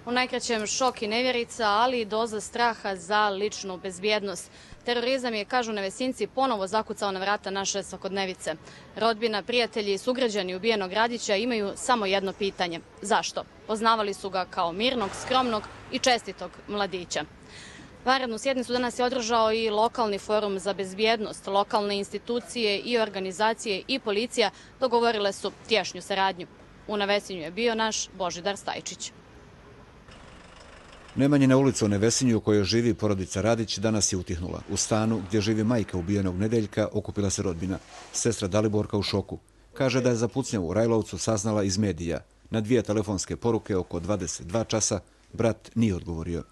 U najkraćem šok i nevjerica, ali i doza straha za ličnu bezbjednost. Terorizam je, kažu Nevesinci, ponovo zakucao na vrata naše svakodnevice. Rodbina, prijatelji i sugrađani ubijenog Radića imaju samo jedno pitanje. Zašto? Poznavali su ga kao mirnog, skromnog i čestitog mladića. Vanrednu sjednicu danas je održao i lokalni forum za bezbjednost. Lokalne institucije i organizacije i policija dogovorile su tješnju saradnju. U Nevesinju je bio naš Božidar Stajčić. Nemanjina ulica u Nevesinju u kojoj živi porodica Radić danas je utihnula. U stanu gdje živi majka ubijenog Nedeljka okupila se rodbina. Sestra Daliborka u šoku. Kaže da je za pucnjavu u Rajlovcu saznala iz medija. Na 2 telefonske poruke oko 22 časa brat nije odgovorio.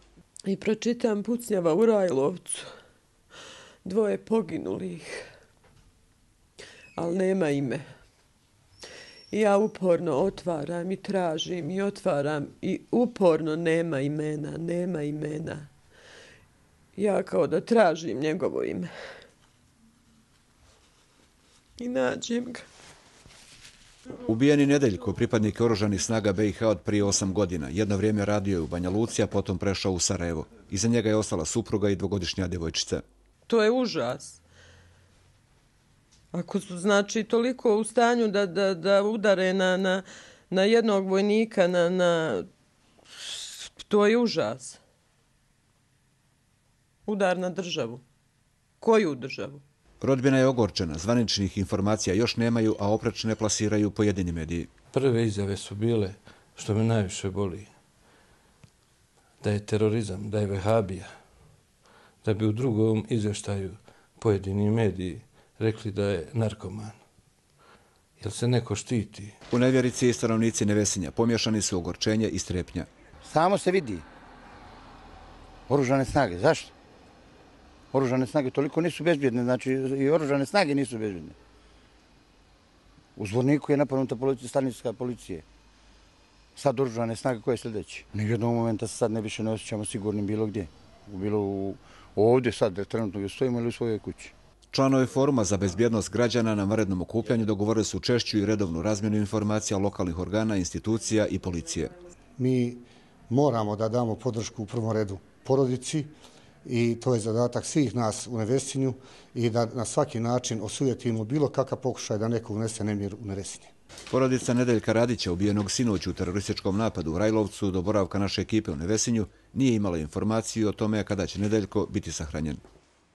I pročitam pucnjava u Rajlovcu. 2 poginulih. Ali nema ime. I ja uporno otvaram i tražim i otvaram i uporno nema imena. Ja kao da tražim njegovo ime. I nađem ga. Ubijeni Nedeljko, pripadnik oružanih snaga BiH od prije 8 godina. Jedno vrijeme radio je u Banja Luci, a potom prešao u Sarajevo. Iza njega je ostala supruga i 2-godišnja djevojčica. To je užas. Ako su, znači, toliko u stanju da udare na jednog vojnika, to je užas. Udar na državu. Koju državu? Rodbina je ogorčena, zvaničnih informacija još nemaju, a oprečne plasiraju pojedini mediji. Prve izjave su bile, što me najviše boli, da je terorizam, da je vehabija, da bi u drugom izvještaju pojedini mediji rekli da je narkoman. Jel se neko štiti? U nevjerici i stanovnici Nevesinja pomješani su ogorčenje i strepnja. Samo se vidi. Oružane snage. Zašto? Oružane snage toliko nisu bezbjedne, znači i oružane snage nisu bezbjedne. U Zvorniku je napadnuta stanica policije. Sad oružane snage koje je sljedeći. Ni u jednog momenta se sad ne više ne osjećamo sigurnim bilo gdje. Bilo ovdje sad, trenutno gdje stojimo ili u svojoj kući. Članovi foruma za bezbjednost građana na vanrednom okupljanju dogovorili su češću i redovnu razmjenu informacija lokalnih organa, institucija i policije. Mi moramo da damo podršku u prvom redu porodici i to je zadatak svih nas u Nevesinju i da na svaki način osujetimo bilo kakav pokušaj da neko unese nemir u Nevesinje. Porodica Nedeljka Radića, ubijenog sinoć u terorističkom napadu u Rajlovcu do boravka naše ekipe u Nevesinju, nije imala informaciju o tome kada će Nedeljko biti sahranjen.